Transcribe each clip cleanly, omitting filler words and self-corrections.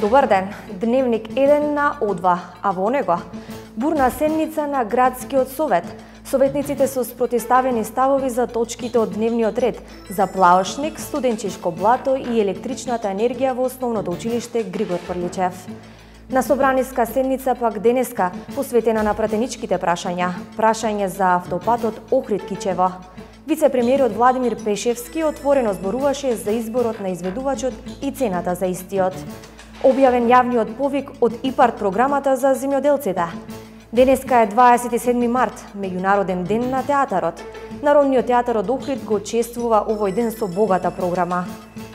Добар ден, Дневник 1 на О2, а во него бурна седница на Градскиот совет. Советниците со спротивставени ставови за точките од дневниот ред за Плаошник, студенчишко блато и електричната енергија во Основното училиште Григор Прличев. На собраниска седница пак денеска посветена на пратеничките прашање за автопатот Охрид-Кичево. Вице-премиерот Владимир Пешевски отворено зборуваше за изборот на изведувачот и цената за истиот. Објавен јавниот повик од ИПАРТ програмата за земјоделците. Денеска е 27 март, меѓународен ден на театарот. Народниот театар од Охрид го чествува овој ден со богата програма.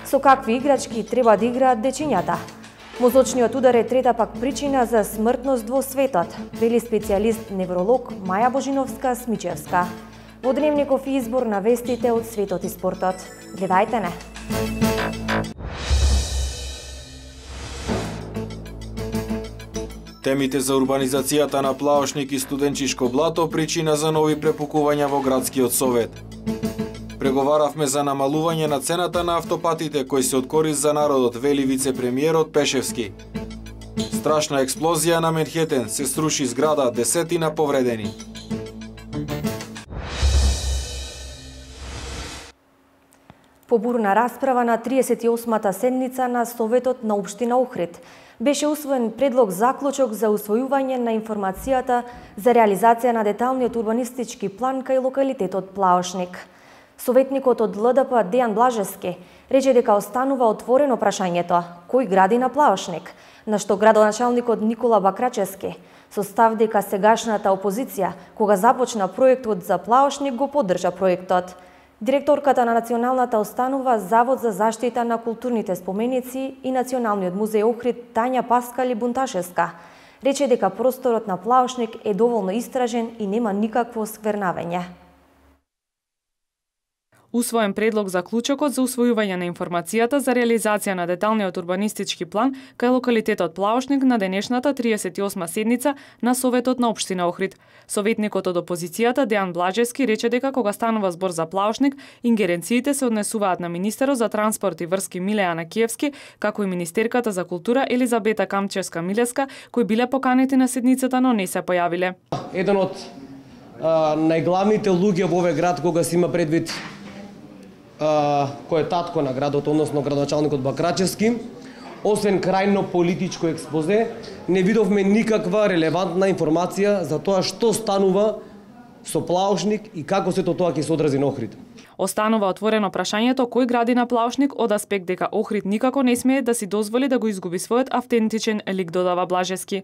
Со какви играчки треба да играат дечињата? Мозочниот удар е трета пак причина за смртност во светот, вели специјалист невролог Маја Божиновска-Смичевска. Во Дневников избор на вестите од светот и спортот. Гледајте не! Темите за урбанизацијата на Плаошник и студенчишко блато причина за нови препукувања во Градскиот совет. Преговаравме за намалување на цената на автопатите кои се од корист за народот, вели вице-премиерот Пешевски. Страшна експлозија на Менхетен, се сруши зграда, десетина повредени. По бурна расправа на 38-та седница на Советот на Општина Охрид беше усвоен предлог заклучок за усвојување на информацијата за реализација на деталниот урбанистички план кај локалитетот Плаошник. Советникот од ЛДП Дејан Блажевски рече дека останува отворено прашањето кој гради на Плаошник, на што градоначалникот Никола Бакрачевски со став дека сегашната опозиција кога започна проектот за Плаошник го поддржа проектот. Директорката на Националната установа Завод за заштита на културните споменици и Националниот музеј Охрид Тања Паскали-Бунташевска рече дека просторот на Плаошник е доволно истражен и нема никакво сквернавење. Усвоен предлог за клучокот за усвојување на информацијата за реализација на деталниот урбанистички план кај локалитетот Плаошник на денешната 38 седница на Советот на Општина Охрид. Советникот од опозицијата Дејан Блажевски рече дека кога станува збор за Плаошник, ингеренциите се однесуваат на министерот за транспорт и врски Милеана Киевски, како и министерката за култура Елизабета Камчевска-Милеска, кои биле поканети на седницата, но не се појавиле. Еден од најглавните луѓе во овој град кога се има предвид кој е татко на градот, односно градоначалникот Бакрачевски, освен крајно политичко експозе, не видовме никаква релевантна информација за тоа што станува со Плаошник и како сето тоа ќе се одрази на Охрид. Останува отворено прашањето кој гради на Плаошник од аспект дека Охрид никако не смее да си дозволи да го изгуби својот автентичен лик, додава Блажевски.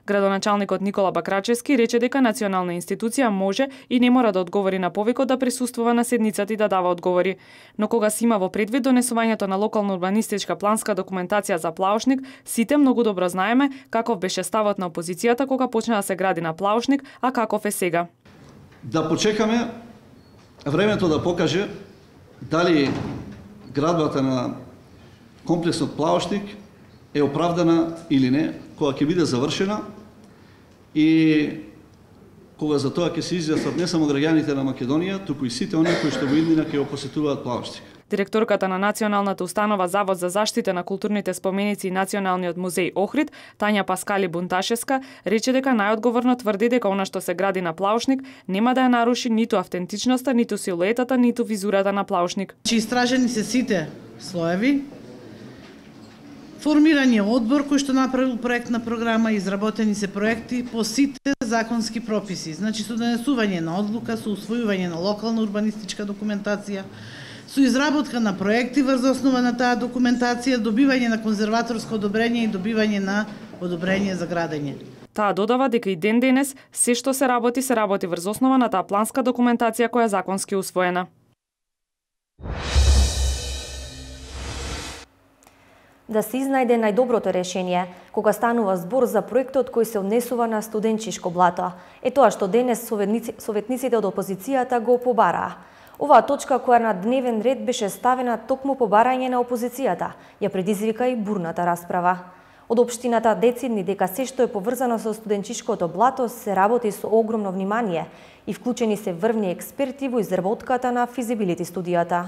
Градоначалникот Никола Бакрачевски рече дека национална институција може и не мора да одговори на повикот да присуствува на седницата и да дава одговори. Но кога се има во предвид донесувањето на локална урбанистичка планска документација за Плаошник, сите многу добро знаеме каков беше ставот на опозицијата кога почна да се гради на Плаошник, а каков е сега. Да почекаме времето да покаже дали градбата на комплексот Плаошник е оправдана или не, кога ќе биде завршена и кога за тоа ќе се изјаснат не само граѓаните на Македонија, туку и сите оние кои што во иднина ќе го посетуваат Плаошник. Директорката на Националната установа Завод за заштита на културните споменици и Националниот музеј Охрид, Тања Паскали-Бунташевска, рече дека најодговорно тврди дека она што се гради на Плаошник нема да ја наруши ниту автентичноста, ниту силуетата, ниту визурата на Плаошник. Истражени се сите слоеви. Формиран е одбор кој што направил проектна програма, изработени се проекти по сите законски прописи, значи со донесување на одлука, со усвојување на локална урбанистичка документација, со изработка на проекти врз основа на таа документација, добивање на конзерваторско одобрење и добивање на одобрење за градење. Таа додава дека и ден денес се што се работи врз основа на таа планска документација која е законски усвоена. Да се изнајде најдоброто решение кога станува збор за проектот кој се однесува на студенчишко блато. Е тоа што денес советниците од опозицијата го побараа. Оваа точка која на дневен ред беше ставена токму по барање на опозицијата, ја предизвика и бурната расправа. Од општината децидни дека се што е поврзано со студенчишкото блато се работи со огромно внимание и вклучени се врвни експерти во изработката на физибилити студијата.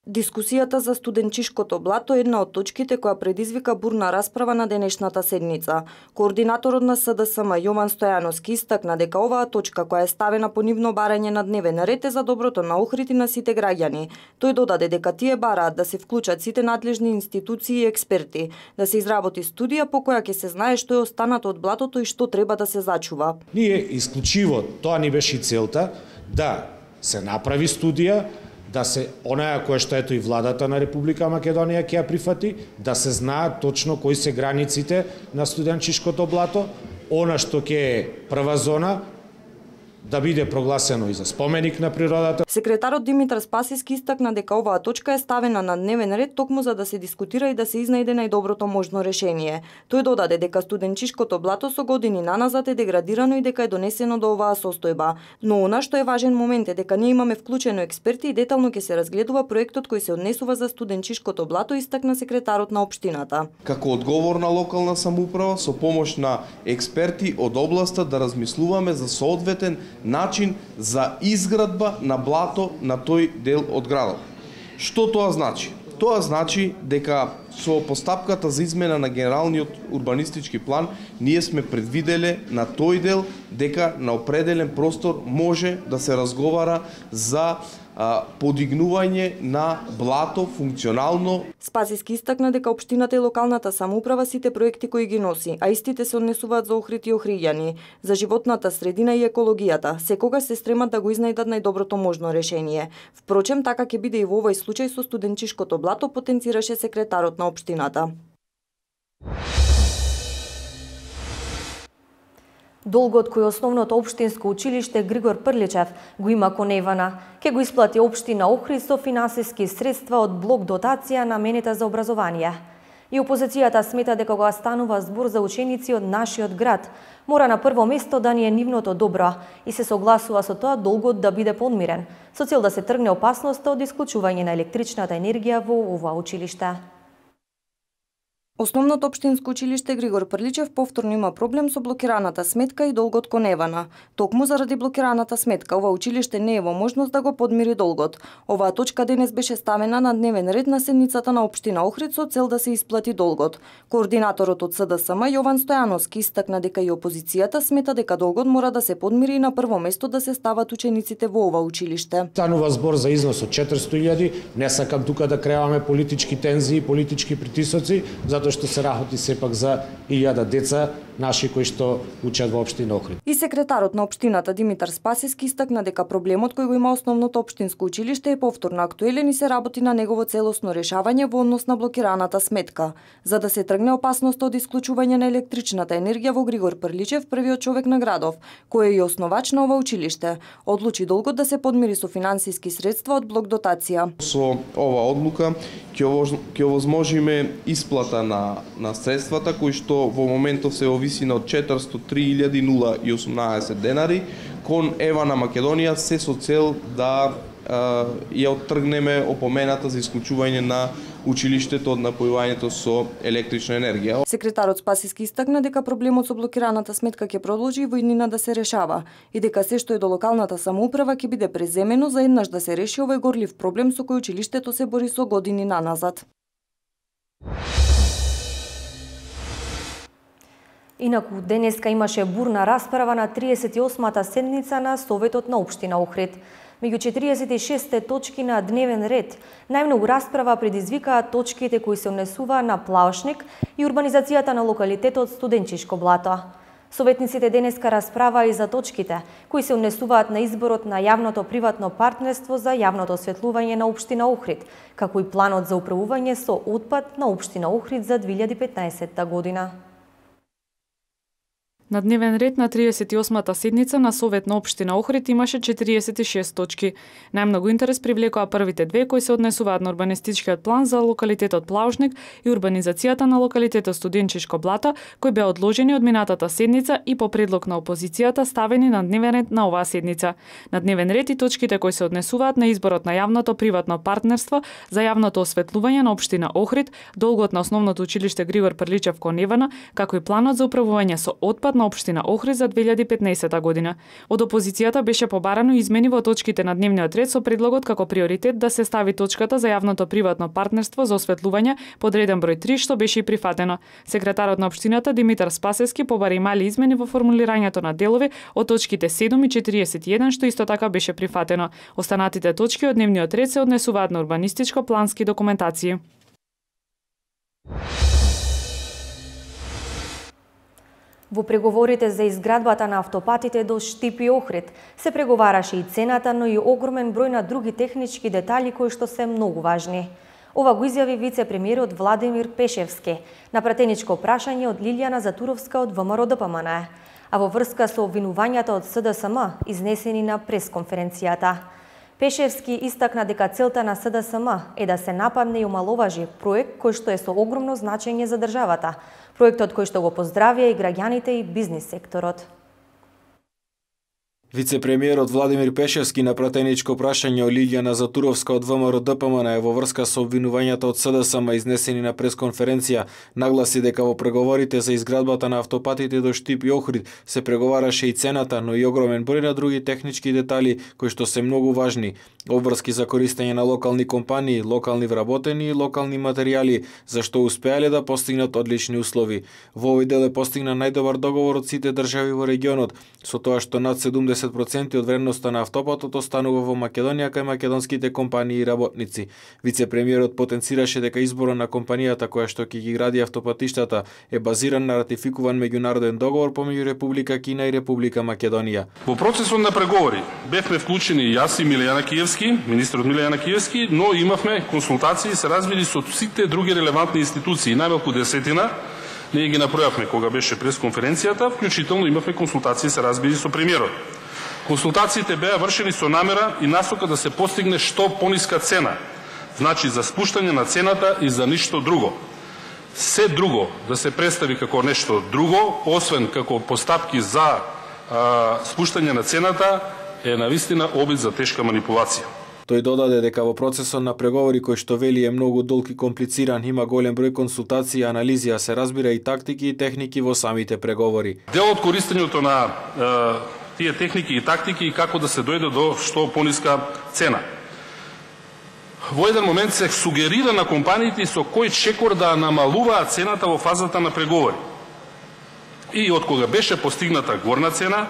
Дискусијата за студенчишкото блато е една од точките која предизвика бурна расправа на денешната седница. Координаторот на СДСМ Јован Стојановски истакна дека оваа точка која е ставена по нивно барање на дневен ред е за доброто на Охрид и на сите граѓани. Тој додаде дека тие бараат да се вклучат сите надлежни институции и експерти, да се изработи студија по која ќе се знае што е останато од блатото и што треба да се зачува. Ние исклучиво, тоа ни беше и целта, да се направи студија, да се онаја која што ето и владата на Република Македонија ќе ја прифати, да се знаат точно кои се границите на студенчишкото блато, она што ќе е прва зона, да биде прогласено и за споменик на природата. Секретарот Димитар Спасиски истакна дека оваа точка е ставена на дневен ред токму за да се дискутира и да се изнајде најдоброто можно решение. Тој додаде дека студенчишкото блато со години наназад е деградирано и дека е донесено до оваа состојба. Но она што е важен момент е дека ние имаме вклучено експерти и детално ќе се разгледува проектот кој се однесува за студенчишкото блато, истакна секретарот на општината. Како одговорна локална самоуправа со помош на експерти од областа да размислуваме за соодветен начин за изградба на блато на тој дел од градот. Што тоа значи? Тоа значи дека со постапката за измена на генералниот урбанистички план ние сме предвиделе на тој дел дека на определен простор може да се разговара за подигнување на блато функционално. Спасиски истакна дека општината и локалната самоуправа сите проекти кои ги носи, а истите се однесуваат за Охрид и охриѓани, за животната средина и екологијата, секогаш се стремат да го изнајдат најдоброто можно решение. Впрочем, така ќе биде и во овој случај со студенчишкото блато, потенцираше секретарот на општината. Долгот кој основното општинско училиште Григор Прличев го има кон Евана, ќе го исплати општина Охрид со финансиски средства од блок дотација наменета за образование. И опозицијата смета дека кога станува збор за ученици од нашиот град, мора на прво место да ни е нивното добро и се согласува со тоа долгот да биде подмирен, со цел да се тргне опасноста од исклучување на електричната енергија во ова училиште. Основното општинско училиште Григор Прличев повторно има проблем со блокираната сметка и долгот кон Евана. Токму заради блокираната сметка, ова училиште не е во можност да го подмири долгот. Оваа точка денес беше ставена на дневен ред на седницата на општина Охрид со цел да се исплати долгот. Координаторот од СДСМ Јован Стојановски истакна дека и опозицијата смета дека долгот мора да се подмири и на прво место да се стават учениците во ова училиште. Станува збор за износ од 400.000, не сакам тука да креаме политички тензии, политички притисоци, затоа што се работи сепак за 1000 деца наши кои што учат во општина Охрид. И секретарот на општината Димитар Спасиски истакна дека проблемот кој го има основното општинско училиште е повторно актуелен и се работи на негово целосно решавање во однос на блокираната сметка. За да се тргне опасноста од исклучување на електричната енергија во Григор Прличев, првиот човек на градов, кој е и основач на ова училиште, одлучи долгот да се подмири со финансиски средства од блок дотација. Со ова одлука ќе овозможиме исплата на средствата кои што во моментов се висина од 403.018 денари кон Евана Македонија, се со цел да ја оттргнеме опомената за исклучување на училиштето од напојувањето со електрична енергија. Секретарот Спасиски истакна дека проблемот со блокираната сметка ќе продолжи и во иднина да се решава и дека се што е до локалната самоуправа ќе биде преземено за еднаш да се реши овој горлив проблем со кој училиштето се бори со години наназад. Инаку, денеска имаше бурна расправа на 38-та седница на Советот на општина Охрид. Меѓу 46 точки на дневен ред, најмногу расправа предизвикаа точките кои се однесуваа на Плаошник и урбанизацијата на локалитетот Студенчишко блато. Советниците денеска расправаа и за точките кои се однесуваат на изборот на јавното-приватно партнерство за јавното осветлување на општина Охрид, како и планот за управување со отпад на општина Охрид за 2015 година. На дневен ред на 38-та седница на Совет на општина Охрид имаше 46 точки. Најмногу интерес привлекоа првите две кои се однесуваат на урбанистичкиот план за локалитетот Плаошник и урбанизацијата на локалитетот Студенчишко блато, кои беа одложени од минатата седница и по предлог на опозицијата ставени на дневен ред на оваа седница. На дневен ред и точките кои се однесуваат на изборот на јавното приватно партнерство за јавното осветлување на општина Охрид, долгот на основното училиште Григор Прличев кон Евана, како и планот за управување со отпад на на општина Охрид за 2015 година. Од опозицијата беше побарано измени во точките на дневниот ред со предлогот како приоритет да се стави точката за јавното приватно партнерство за осветлување под реден број 3, што беше и прифатено. Секретарот на општината Димитар Спасевски побари мали измени во формулирањето на делови од точките 7 и 41, што исто така беше прифатено. Останатите точки од дневниот ред се однесуваат на урбанистичко-плански документации. Во преговорите за изградбата на автопатите до Штип и Охрид се преговараше и цената, но и огромен број на други технички детали кои што се многу важни. Ова го изјави вице-премиерот Владимир Пешевски на пратеничко прашање од Лилијана Затуровска од ВМРО-ДПМН, а во врска со обвинувањата од СДСМ изнесени на пресконференцијата. Пешевски истакна дека целта на СДСМ е да се нападне и омаловажи проект кој што е со огромно значење за државата, проектот кој што го поздравија и граѓаните и бизнис секторот. Вице-премиерот Владимир Пешевски на пратеничко прашање од Лилијана Затуровска од ВМРО-ДПМН во врска со обвинувањата од СДСМ изнесени на пресконференција нагласи дека во преговорите за изградбата на автопатите до Штип и Охрид се преговараше и цената, но и огромен број на други технички детали кои што се многу важни, обврски за користење на локални компании, локални вработени и локални материјали, за што успеале да постигнат одлични услови. Во овој дел е постигнат најдобар договор од сите држави во регионот, со тоа што над 70% од вредноста на автопатот останува во Македонија кај македонските компании и работници. Вице-премиерот потенцираше дека изборот на компанијата која што ќе ги гради автопатиштата е базиран на ратификуван меѓународен договор помеѓу Република Кина и Република Македонија. Во процесот на преговори бевме вклучени јас и Милијана Киевски, министерот Милијана Киевски, но имавме консултации и се разбили со сите други релевантни институции, најмалку 10. Ние ги набројавме кога беше пресконференцијата, вклучително имавме консултации се разбили со премиерот. Консултациите беа вршени со намера и насока да се постигне што пониска цена, значи за спуштање на цената и за ништо друго. Се друго да се представи како нешто друго, освен како постапки за спуштање на цената, е навистина обид за тешка манипулација. Тој додаде дека во процесот на преговори кој што вели е многу долг и комплициран, има голем број консултации и анализи, а се разбира и тактики и техники во самите преговори. Дел од користењето на тие техники и тактики и како да се дојде до што пониска цена. Во еден момент се сугерира на компаниите со кој чекор да намалуваат цената во фазата на преговори. И од кога беше постигната горна цена,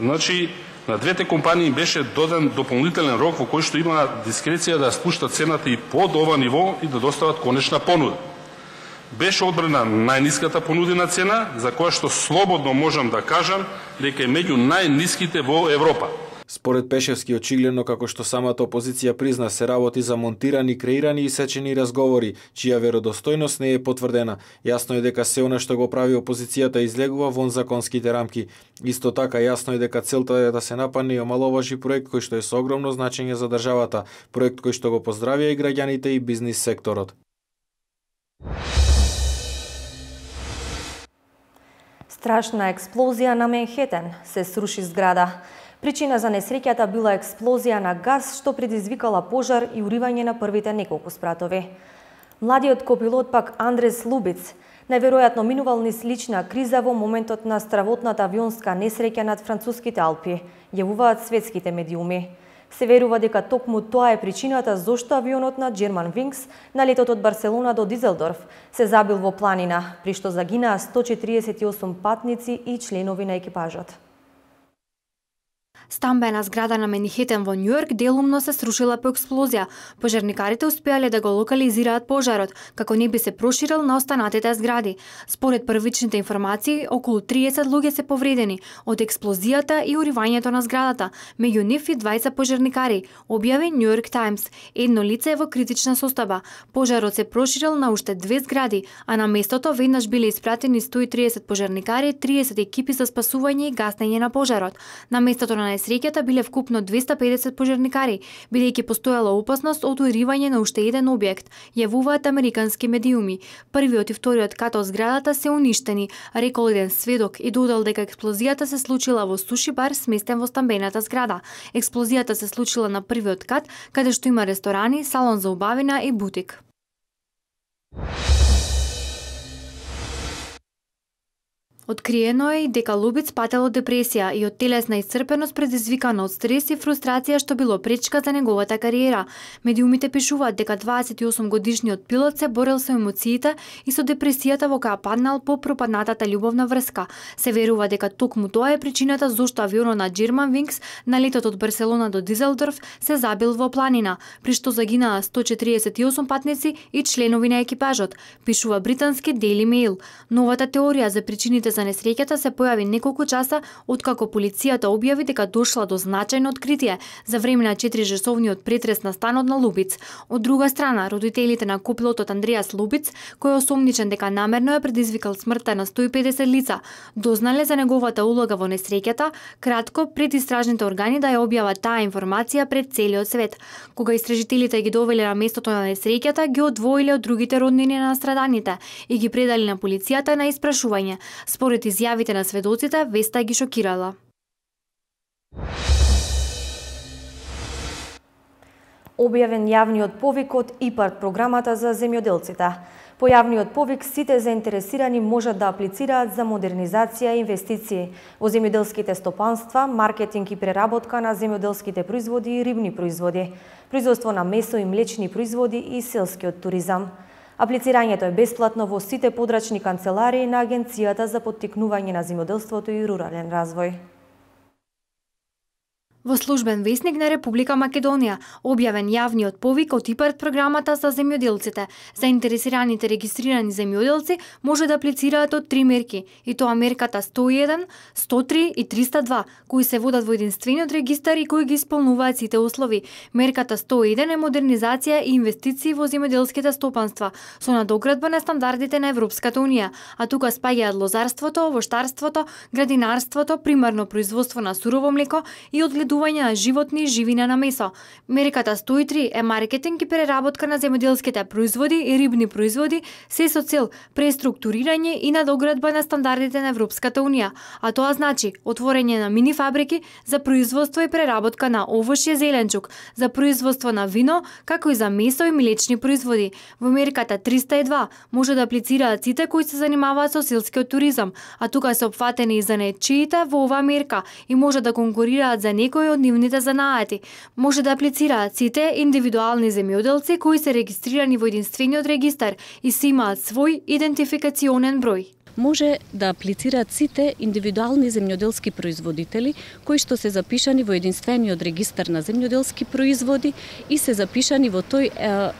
значи на двете компании беше доден дополнителен рок во кој што има дискреција да спуштат цената и под ова ниво и да достават конечна понуда. Беше одбрана најниската понудена цена, за која што слободно можам да кажам дека е меѓу најниските во Европа. Според Пешевски, очигледно како што самата опозиција призна, се работи за монтирани, креирани и сечени разговори, чија веродостојност не е потврдена. Јасно е дека се она што го прави опозицијата излегува вон законските рамки. Исто така јасно е дека целта е да се нападне и омаловажи проект кој што е со огромно значење за државата, проект кој што го поздравија и граѓаните и бизнис секторот. Страшна експлозија на Менхетен, се сруши зграда. Причина за несреќата била експлозија на газ што предизвикала пожар и уривање на првите неколку спратови. Младиот копилот пак Андрес Лубиц најверојатно минувал низ лична криза во моментот на стравотната авионска несреќа над француските Алпи, јавуваат светските медиуми. Се верува дека токму тоа е причината зошто авионот на Germanwings на летот од Барселона до Дизелдорф се забил во планина, при што загинаа 148 патници и членови на екипажот. Стамбена зграда на Менхетен во Њујорк делумно се срушила по експлозија. Пожарникарите успеале да го локализираат пожарот, како не би се проширил на останатите згради. Според првичните информации, околу 30 луѓе се повредени од експлозијата и уривањето на зградата, меѓу нив и 20 пожарникари, објави Њујорк Таймс. Едно лице е во критична состојба. Пожарот се проширил на уште 2 згради, а на местото веднаш биле испратени 130 пожарникари, 30 екипи за спасување и гаснење на пожарот. На местото на несреќата биле вкупно 250 пожарникари, бидејќи постоела опасност од уривање на уште еден објект, јавуваат американски медиуми. Првиот и вториот кат од зградата се уништени, рекол еден сведок и додал дека експлозијата се случила во суши бар сместен во стамбената зграда. Експлозијата се случила на првиот кат, каде што има ресторани, салон за убавина и бутик. Откриено е и дека Лубиц патело депресија и од телесна исцрпеност предизвикана од стрес и фрустрација што било пречка за неговата кариера. Медиумите пишуваат дека 28 годишниот пилот се борел со емоциите и со депресијата во која паднал по пропаднатата љубовна врска. Се верува дека токму тоа е причината зошто авионот на Germanwings на летот од Барселона до Дизелдорф се забил во планина, при што загинаа 148 патници и членови на екипажот, пишува британски Daily Mail. Новата теорија за причините за несреќата се појави неколку часа откако полицијата објави дека дошла до значајно откритие за време на 4-часовниот претрес на станот на Лубиц. Од друга страна, родителите на копилотот Андреас Лубиц, кој е осомничен дека намерно е предизвикал смртта на 150 лица, дознале за неговата улога во несреќата кратко пред истражните органи да ја објават таа информација пред целиот свет. Кога истражителите ги довеле на местото на несреќата, ги одвоиле од другите роднини на страданите и ги предали на полицијата на испрашување. Според изјавите на сведоците, веста ги шокирала. Објавен јавниот повик од ИПАРД програмата за земјоделците. По јавниот повик сите заинтересирани можат да аплицираат за модернизација и инвестиции во земјоделските стопанства, маркетинг и преработка на земјоделските производи и рибни производи, производство на месо и млечни производи и селскиот туризам. Аплицирањето е бесплатно во сите подрачни канцеларии на Агенцијата за поттикнување на земјоделството и рурален развој. Во службен весник на Република Македонија објавен јавниот повик од ИПАРД програмата за земјоделците. Заинтересираните регистрирани земјоделци може да аплицираат од 3 мерки, и тоа мерката 101, 103 и 302, кои се водат во единствениот регистар и кои ги исполнуваат сите услови. Мерката 101 е модернизација и инвестиции во земјоделските стопанства со надоградба на стандардите на Европската унија, а тука спаѓаат лозарството, овоштарството, градинарството, примарно производство на сурово млеко и одгледување на животни и живина на месо. Мерката 103 е маркетинг и преработка на земјоделските производи и рибни производи, се со цел преструктурирање и надоградба на стандардите на Европската унија, а тоа значи отворање на мини фабрики за производство и преработка на овошје, зеленчук, за производство на вино, како и за месо и млечни производи. Во мерката 302 може да аплицираат сите кои се занимаваат со селскиот туризам, а тука се опфатени и занаетчиите во оваа мерка и може да конкурираат за некои од нивните занаати. Може да аплицираат сите индивидуални земјоделци кои се регистрирани во единствениот регистар и се имаат свој идентификационен број. Може да аплицираат сите индивидуални земјоделски производители кои што се запишани во единствениот регистар на земјоделски производи и се запишани во тој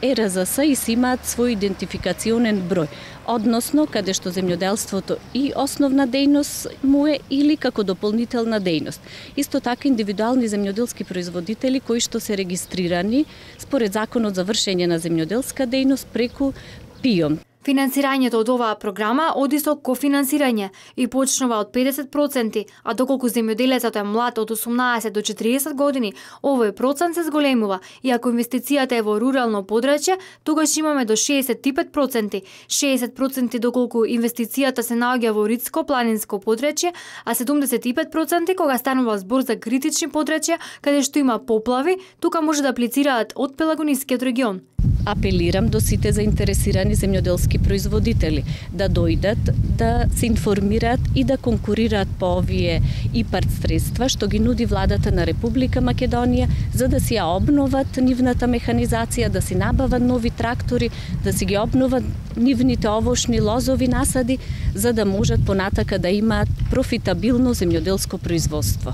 ЕРЗС и се имаат свој идентификационен број, односно каде што земјоделството и основна дејност му е или како дополнителна дејност. Исто така индивидуални земјоделски производители кои што се регистрирани според законот за вршење на земјоделска дејност преку ПИОМ. Финансирањето од оваа програма оди со кофинансирање и почнува од 50%, а доколку земјоделецот е млад од 18 до 40 години, овој процент се зголемува и ако инвестицијата е во рурално подрачје, тогаш имаме до 65%, 60% доколку инвестицијата се наоѓа во ридско планинско подрачје, а 75% кога станува збор за критични подрачја каде што има поплави, тука може да аплицираат од Пелагонискиот регион. Апелирам до сите заинтересирани земјоделски производители да дојдат, да се информираат и да конкурираат по овие ИПАРД средства што ги нуди владата на Република Македонија за да си ја обноват нивната механизација, да си набават нови трактори, да си ги обноват нивните овошни лозови насади за да можат понатака да имаат профитабилно земјоделско производство.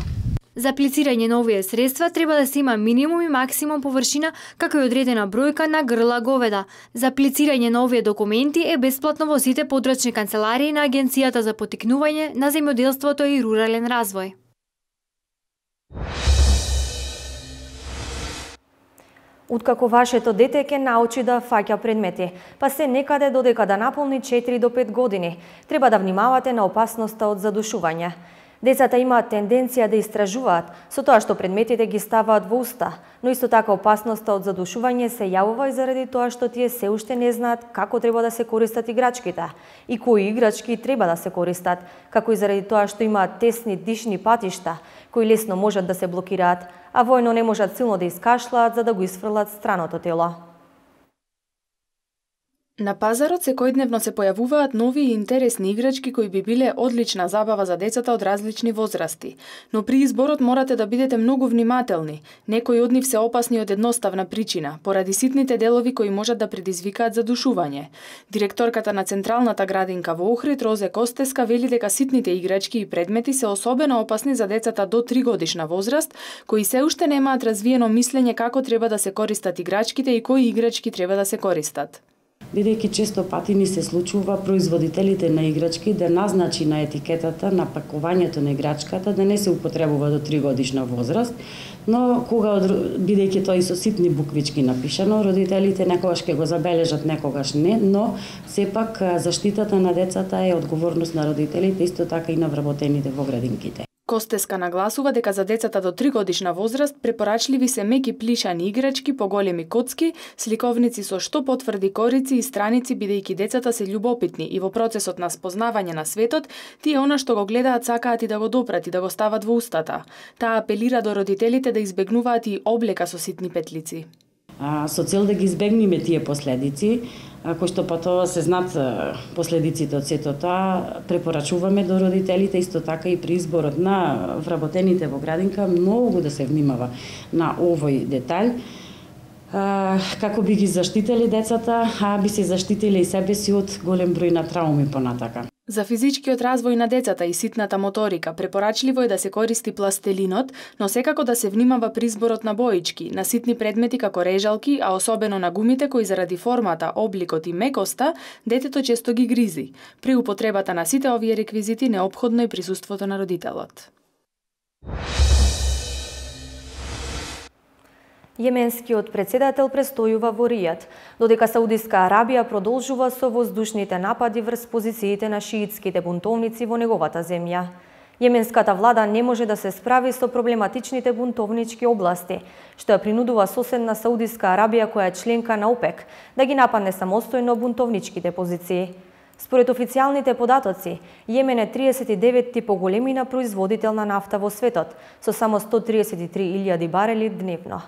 За аплицирање на овие средства треба да се има минимум и максимум површина, како и одредена бројка на грла говеда. За аплицирање на овие документи е бесплатно во сите подрачни канцеларии на Агенцијата за поттикнување на земјоделството и рурален развој. Откако вашето дете ќе научи да фаќа предмети, па се некаде додека да наполни 4 до 5 години, треба да внимавате на опасноста од задушување. Децата имаат тенденција да истражуваат со тоа што предметите ги ставаат во уста, но исто така опасноста од задушување се јавува и заради тоа што тие се уште не знаат како треба да се користат играчките и кои играчки треба да се користат, како и заради тоа што имаат тесни дишни патишта кои лесно можат да се блокираат, а војно не можат силно да искашлаат за да го исфрлат страното тело. На пазарот секојдневно се појавуваат нови и интересни играчки кои би биле одлична забава за децата од различни возрасти. Но при изборот морате да бидете многу внимателни. Некои од нив се опасни од едноставна причина, поради ситните делови кои можат да предизвикаат задушување. Директорката на Централната градинка во Охрид, Розе Костеска, вели дека ситните играчки и предмети се особено опасни за децата до 3 годишна возраст, кои се уште немаат развиено мислење како треба да се користат играчките и кои играчки треба да се користат. Бидејќи често пати ни се случува производителите на играчки да назначи на етикетата на пакувањето на играчката да не се употребува до 3 годишна возраст, но кога бидејќи тоа и со ситни буквички напишано, родителите некогаш ќе го забележат, некогаш не, но сепак заштитата на децата е одговорност на родителите, исто така и на вработените во градинките. Костеска нагласува дека за децата до 3 годишна возраст препорачливи се меки плишани играчки, поголеми коцки, сликовници со што потврди корици и страници, бидејќи децата се љубопитни и во процесот на спознавање на светот, тие она што го гледаат сакаат и да го допрат и да го стават во устата. Таа апелира до родителите да избегнуваат и облека со ситни петлици. Со цел да ги избегнеме тие последици, кои што потоа се знаат последиците од сето тоа, препорачуваме до родителите исто така и при изборот на вработените во градинка многу да се внимава на овој детаљ, како би ги заштители децата, а би се заштитили и себе си од голем број на трауми понатака. За физичкиот развој на децата и ситната моторика препорачливо е да се користи пластелинот, но секако да се внимава при изборот на боички, на ситни предмети како режалки, а особено на гумите кои заради формата, обликот и мекоста, детето често ги гризи. При употребата на сите овие реквизити неопходно е присуството на родителот. Јеменскиот председател престојува во Ријад, додека Саудиска Арабија продолжува со воздушните напади врз позициите на шиитските бунтовници во неговата земја. Јеменската влада не може да се справи со проблематичните бунтовнички области, што ја принудува соседна Саудиска Арабија, која е членка на ОПЕК, да ги нападне самостојно бунтовничките позиции. Според официјалните податоци, Јемен е 39-ти по големина производител на нафта во светот, со само 133.000 барели дневно.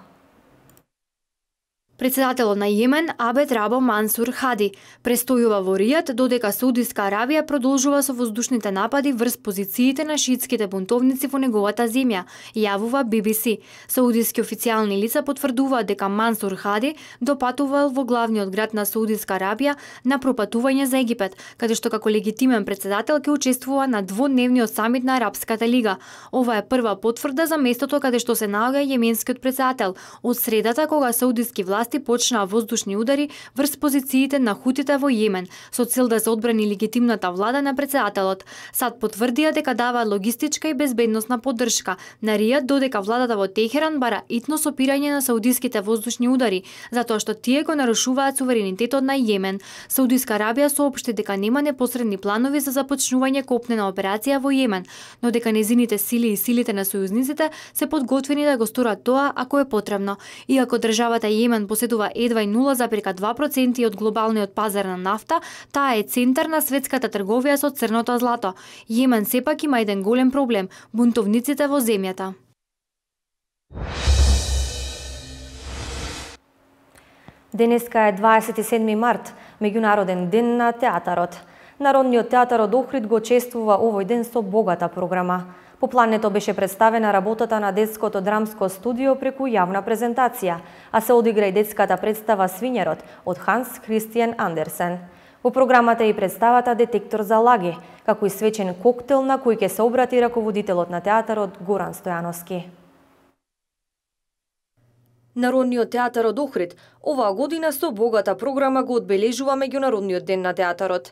Председателот на Јемен, Абед Рабо Мансур Хади, престојува во Ријад додека Саудиска Арабија продолжува со воздушните напади врз позициите на шиитските бунтовници во неговата земја, јавува BBC. Саудиски официјални лица потврдуваат дека Мансур Хади допатувал во главниот град на Саудиска Арабија на пропатување за Египет, каде што како легитимен председател ќе учествува на дводневниот самит на Арапската лига. Ова е прва потврда за местото каде што се наоѓа јеменскиот председател од средата кога саудиски власти почнаа воздушни удари врз позициите на хутите во Јемен, со цел да се одбрани легитимната влада на председателот. САД потврдија дека даваат логистичка и безбедносна поддршка на Ријад, додека владата во Техеран бара итно сопирање на саудиските воздушни удари, затоа што тие го нарушуваат суверенитетот на Јемен. Саудиска Арабија соопшти дека нема непосредни планови за започнување копнена операција во Јемен, но дека незините сили и силите на сојузниците се подготвени да го сторат тоа ако е потребно. Иако државата Јемен поседува едва и 0,2% од глобалниот пазар на нафта, таа е центар на светската трговија со црното злато. Јемен сепак има еден голем проблем – бунтовниците во земјата. Денеска е 27 март, меѓународен ден на театарот. Народниот театар од Охрид го чествува овој ден со богата програма. По плането беше представена работата на детското драмско студио преку јавна презентација, а се одигра и детската представа Свињерот од Ханс Христијан Андерсен. Во програмата е и представата Детектор за лаги, како и свечен коктел на кој ќе се обрати раководителот на театарот Горан Стојановски. Народниот театар од Охрид оваа година со богата програма го одбележува меѓународниот ден на театарот.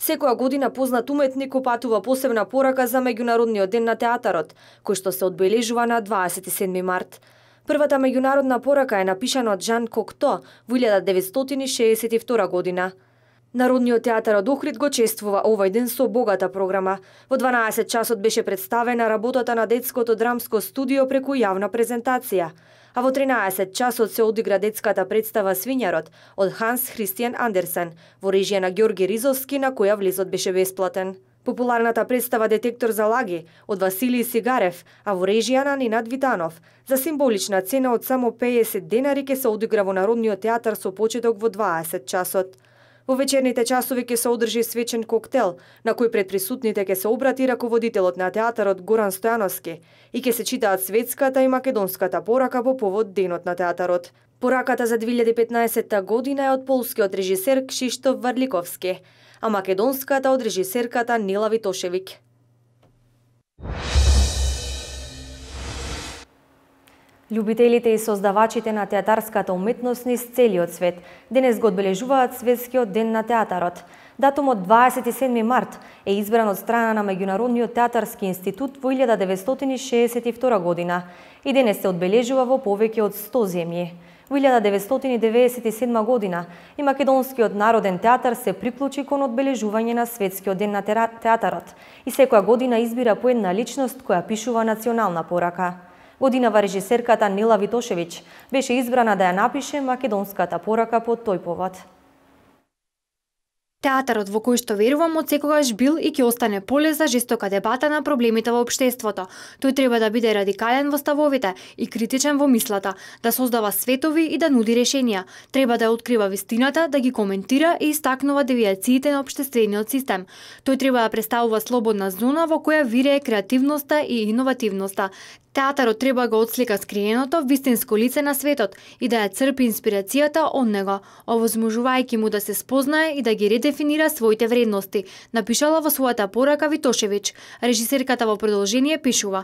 Секоја година познат уметник опатува посебна порака за меѓународниот ден на театарот, кој што се одбележува на 27 март. Првата меѓународна порака е напишана од Жан Кокто во 1962 година. Народниот театар од Охрид го чествува овој ден со богата програма. Во 12 часот беше представена работата на детското драмско студио преку јавна презентација, а во 13 часот се одигра детската представа Свињерот од Ханс Христијан Андерсен во режија на Ѓорги Ризовски, на која влезот беше бесплатен. Популарната представа Детектор за лаги од Василиј Сигарев, а во режија на Нинад Витанов, за символична цена од само 50 денари ќе се одигра во Народниот театар со почеток во 20 часот. Во вечерните часови ќе се одржи свечен коктел, на кој пред присутните ќе се обрати раководителот на театарот Горан Стојановски и ќе се читаат светската и македонската порака по повод Денот на театарот. Пораката за 2015 година е од полскиот режисер Кшиштоф Варликовски, а македонската од режисерката Нела Витошевик. Љубителите и создавачите на театарската уметност низ целиот свет денес го одбележуваат Светскиот ден на театарот. Датумот 27 март е избран од страна на Меѓународниот театарски институт во 1962 година и денес се одбележува во повеќе од 100 земји. Во 1997 година и Македонскиот народен театар се приклучи кон одбележување на Светскиот ден на театарот и секоја година избира по една личност која пишува национална порака. Годинава режисерката Нела Витошевич беше избрана да ја напише македонската порака по тој повод. Театарот во кој што верувам од секогаш бил и ќе остане поле за жестока дебата на проблемите во општеството. Тој треба да биде радикален во ставовите и критичен во мислата, да создава светови и да нуди решенија. Треба да ја открива вистината, да ги коментира и истакнува девијациите на општествениот систем. Тој треба да представува слободна зона во која вирее креативноста и иновативноста. Театарот треба го отслика скриеното вистинско лице на светот и да ја црпи инспирацијата од него, овозможувајќи му да се спознае и да ги редефинира своите вредности, напишала во својата порака Витошевич. Режисерката во продолжение пишува: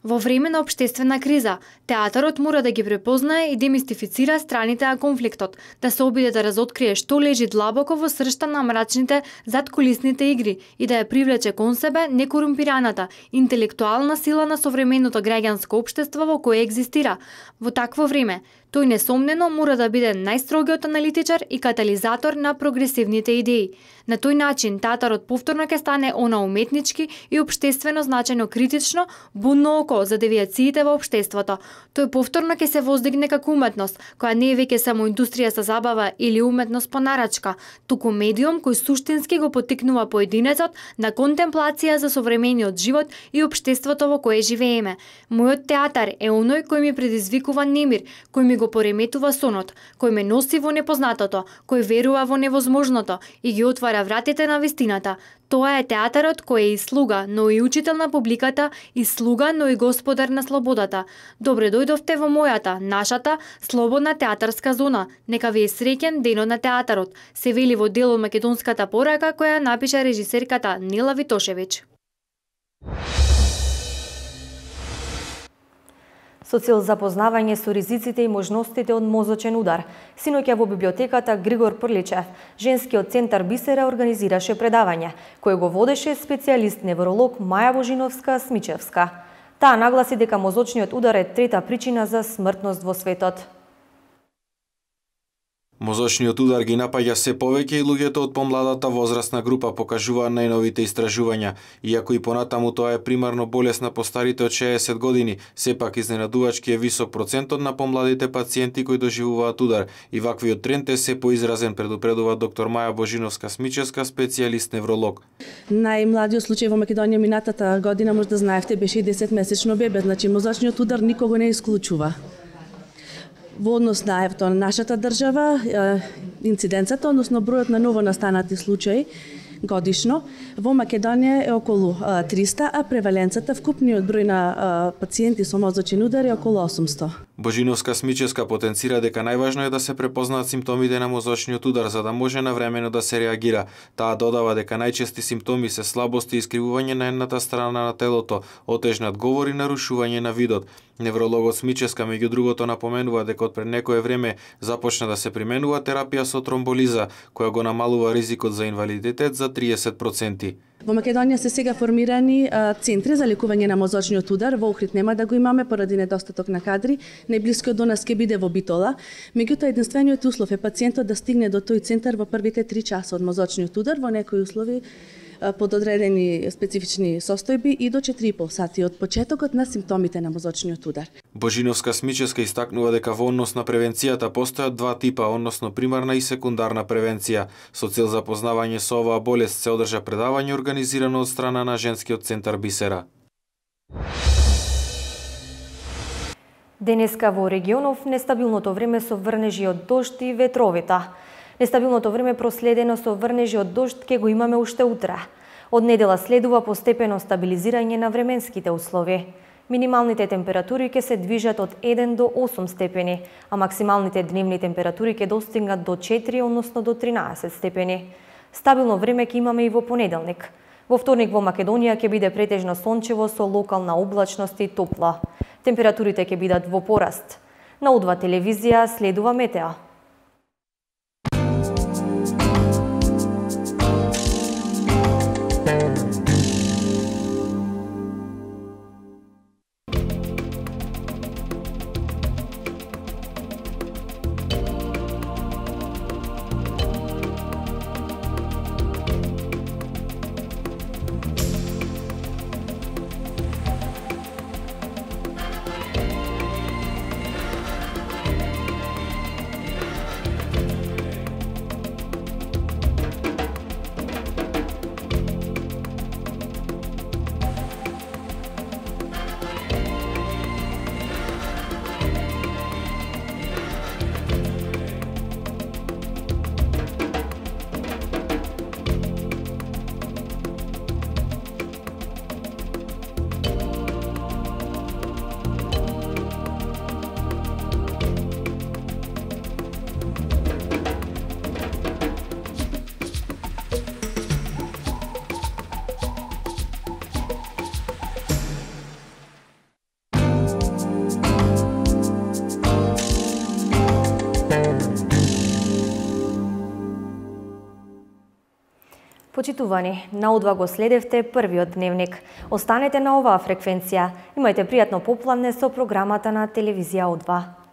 во време на општествена криза, театарот мора да ги препознае и демистифицира страните на конфликтот, да се обиде да разоткрие што лежи длабоко во сршта на мрачните задкулисните игри и да ја привлече кон себе некорумпираната, интелектуална сила на современото граѓанско општество во кое екзистира. Во такво време, тој несомнено мора да биде најстрогиот аналитичар и катализатор на прогресивните идеи. На тој начин театарот повторно ќе стане она уметнички и општествено значено критично, будно око за девијациите во општеството. Тој повторно ќе се воздигне како уметност, која не е веќе само индустрија за забава или уметност по нарачка, туку медиум кој суштински го поттикнува поединецот на контемплација за современиот живот и општеството во кое живееме. Мојот театар е оној кој ми предизвикува немир, кој ми го пореметува сонот, кој ме носи во непознатото, кој верува во невозможното и ги отвара вратите на вистината. Тоа е театарот кој е и слуга, но и учител на публиката, и слуга, но и господар на слободата. Добре дојдовте во мојата, нашата, слободна театарска зона. Нека ви е среќен денот на театарот, се вели во дел од македонската порака која напиша режисерката Нела Витошевич. Со цел запознавање со ризиците и можностите од мозочен удар, синоќа во библиотеката Григор Прличев, женскиот центар Бисера организираше предавање, кој го водеше специјалист невролог Маја Божиновска-Смичевска. Таа нагласи дека мозочниот удар е трета причина за смртност во светот. Мозочниот удар ги напаѓа се повеќе и луѓето од помладата возрастна група, покажуваат најновите истражувања. Иако и понатаму тоа е примарно болест на постарите од 60 години, сепак изненадувачки е висок процентот на помладите пациенти кои доживуваат удар и ваквиот тренд е се поизразен, предупредува доктор Маја Божиновска-Смичевска, специјалист невролог. Најмладиот случај во Македонија минатата година, може да знаевте, беше и 10-месечно бебе, значи мозочниот удар никого не исклучува. Во однос на нашата држава, инциденцата, односно бројот на новонастанати случаи годишно во Македонија е околу 300, а преваленцата, вкупниот број на пациенти со мозочен удар е околу 800. Божиновска-Смичевска потенцира дека најважно е да се препознаат симптомите на мозочниот удар за да може навремено да се реагира. Таа додава дека најчести симптоми се слабост и искривување на едната страна на телото, отежнат говор и нарушување на видот. Неврологот Смичевска меѓу другото напоменува дека од пред некое време започна да се применува терапија со тромболиза, која го намалува ризикот за инвалидитет за 30%. Во Македонија се сега формирани центри за лекување на мозочниот удар. Во Охрид нема да го имаме поради недостаток на кадри. Најблискиот до нас ќе биде во Битола. Меѓутоа единствениот услов е пациентот да стигне до тој центар во првите 3 часа од мозочниот удар, во некои услови под одредени специфични состојби и до 4,5 сати од почетокот на симптомите на мозочниот удар. Божиновска-Смичевска истакнува дека во однос на превенцијата постојат два типа, односно примарна и секундарна превенција. Со цел запознавање со оваа болест се одржа предавање организирано од страна на женскиот центар Бисера. Денеска во регионов нестабилното време со врнежи од дожд и ветровита. Нестабилното време проследено со врнежи од дожд ке го имаме уште утре. Од недела следува постепено стабилизирање на временските услови. Минималните температури ќе се движат од 1 до 8 степени, а максималните дневни температури ќе достигнат до 4, односно до 13 степени. Стабилно време ќе имаме и во понеделник. Во вторник во Македонија ќе биде претежно сончево со локална облачност и топло. Температурите ќе бидат во пораст. На О2 телевизија следува метео. Почитувани, на О2 го следевте првиот дневник. Останете на оваа фреквенција. Имајте пријатно попладне со програмата на телевизија О2.